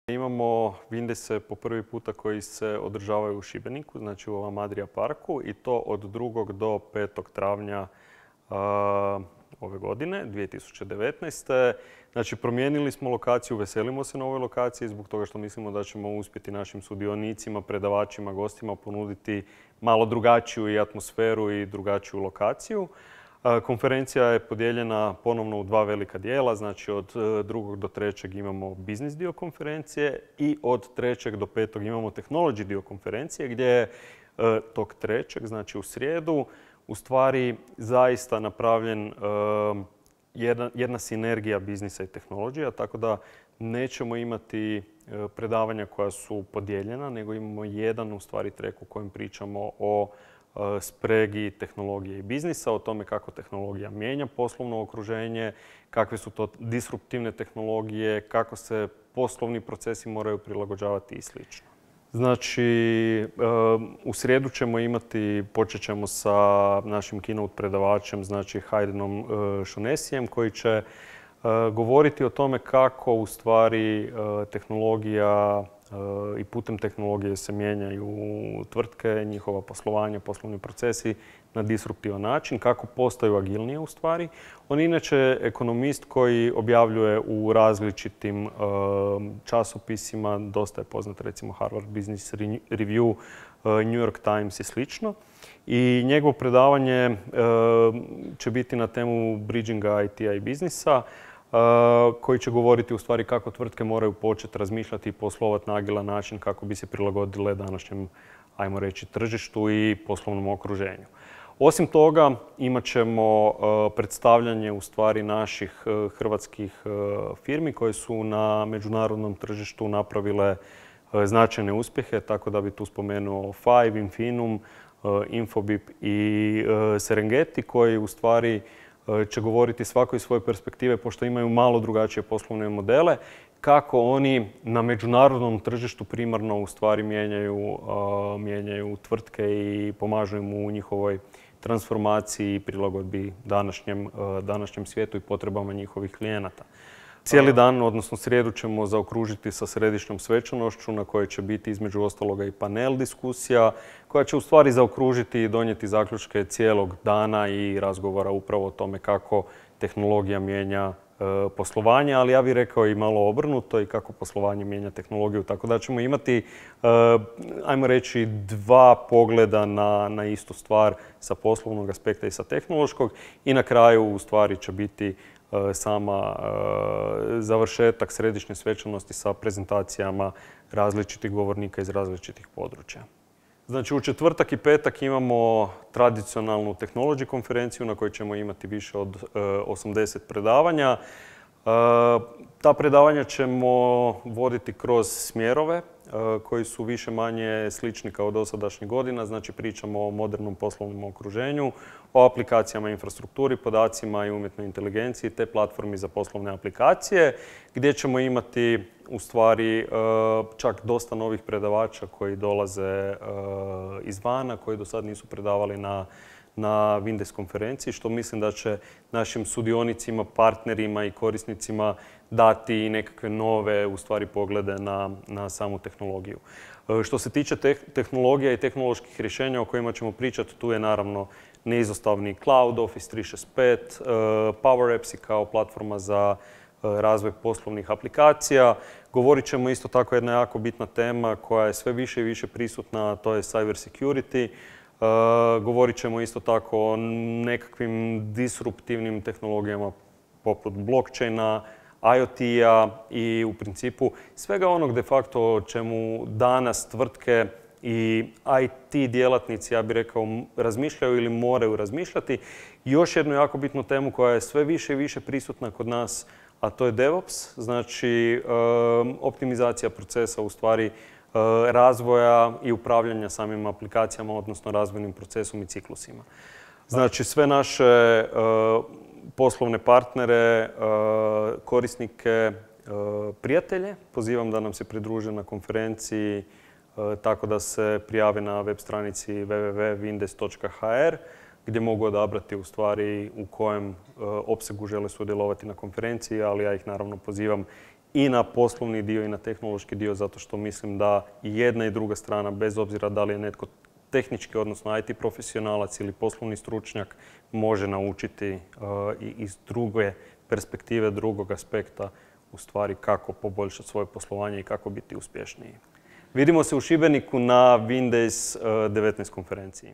Imamo Vindese po prvi puta koji se održavaju u Šibeniku, znači u ovom Adria parku, i to od 2. do 5. travnja ove godine, 2019. Znači, promijenili smo lokaciju, veselimo se na ovoj lokaciji zbog toga što mislimo da ćemo uspjeti našim sudionicima, predavačima, gostima ponuditi malo drugačiju i atmosferu i drugačiju lokaciju. Konferencija je podijeljena ponovno u dva velika dijela, znači od 2. do 3. imamo biznis dio konferencije i od 3. do 5. imamo technology dio konferencije gdje je tog 3. znači u srijedu u stvari zaista napravljen jedna sinergija biznisa i tehnologija, tako da nećemo imati predavanja koja su podijeljena, nego imamo jedan u stvari trek u kojem pričamo o spregi tehnologije i biznisa, o tome kako tehnologija mijenja poslovno okruženje, kakve su to disruptivne tehnologije, kako se poslovni procesi moraju prilagođavati i sl. Znači, u srijedu ćemo imati, počet ćemo sa našim keynote predavačem, znači Haydenom Shaughnessyjem, koji će govoriti o tome kako u stvari tehnologija i putem tehnologije se mijenjaju tvrtke, njihova poslovanja, poslovni procesi na disruptivan način, kako postaju agilnije u stvari. On je inače ekonomist koji objavljuje u različitim časopisima, dosta je poznat recimo Harvard Business Review, New York Times i slično. I njegovo predavanje će biti na temu bridginga IT-a i biznisa, koji će govoriti u stvari kako tvrtke moraju početi razmišljati i poslovati na agilan način kako bi se prilagodile današnjem, ajmo reći, tržištu i poslovnom okruženju. Osim toga, imat ćemo predstavljanje u stvari naših hrvatskih firmi koje su na međunarodnom tržištu napravile značajne uspjehe, tako da bi tu spomenuo Five, Infinum, Infobip i Serengeti koji u stvari će govoriti svako iz svoje perspektive, pošto imaju malo drugačije poslovne modele, kako oni na međunarodnom tržištu primarno u stvari mijenjaju tvrtke i pomažu im u njihovoj transformaciji i prilagodbi današnjem svijetu i potrebama njihovih klijenata. Cijeli dan, odnosno srijedu, ćemo zaokružiti sa središnjom svečanošću na kojoj će biti između ostaloga i panel diskusija koja će u stvari zaokružiti i donijeti zaključke cijelog dana i razgovora upravo o tome kako tehnologija mijenja poslovanje, ali ja bih rekao i malo obrnuto i kako poslovanje mijenja tehnologiju. Tako da ćemo imati, ajmo reći, dva pogleda na istu stvar sa poslovnog aspekta i sa tehnološkog i na kraju u stvari će biti sama završetak središnje svečanosti sa prezentacijama različitih govornika iz različitih područja. Znači, u četvrtak i petak imamo tradicionalnu technology konferenciju na kojoj ćemo imati više od 80 predavanja. Ta predavanja ćemo voditi kroz smjerove koji su više manje slični kao dosadašnjih godina. Znači, pričamo o modernom poslovnom okruženju, o aplikacijama, infrastrukturi, podacima i umjetnoj inteligenciji te platformi za poslovne aplikacije, gdje ćemo imati u stvari čak dosta novih predavača koji dolaze izvana, koji do sad nisu predavali na Windows konferenciji, što mislim da će našim sudionicima, partnerima i korisnicima dati i nekakve nove u stvari poglede na samu tehnologiju. Što se tiče tehnologija i tehnoloških rješenja o kojima ćemo pričati, tu je naravno neizostavni Cloud, Office 365, Power Apps kao platforma za razvoj poslovnih aplikacija. Govorit ćemo isto tako jedna jako bitna tema koja je sve više i više prisutna, a to je cyber security. Govorit ćemo isto tako o nekakvim disruptivnim tehnologijama poput blockchaina, IoT-a i u principu svega onog de facto o čemu danas tvrtke i IT djelatnici, ja bih rekao, razmišljaju ili moraju razmišljati. Još jednu jako bitnu temu koja je sve više i više prisutna kod nas, a to je DevOps, znači optimizacija procesa u stvari razvoja i upravljanja samim aplikacijama, odnosno razvojnim procesom i ciklusima. Znači, sve naše poslovne partnere, korisnike, prijatelje pozivam da nam se pridruže na konferenciji tako da se prijave na web stranici www.windes.hr gdje mogu odabrati u stvari u kojem opsegu žele sudjelovati na konferenciji, ali ja ih naravno pozivam i na poslovni dio i na tehnološki dio, zato što mislim da i jedna i druga strana, bez obzira da li je netko tehnički, odnosno IT profesionalac ili poslovni stručnjak, može naučiti i iz druge perspektive, drugog aspekta u stvari kako poboljšati svoje poslovanje i kako biti uspješniji. Vidimo se u Šibeniku na Windays 19 konferenciji.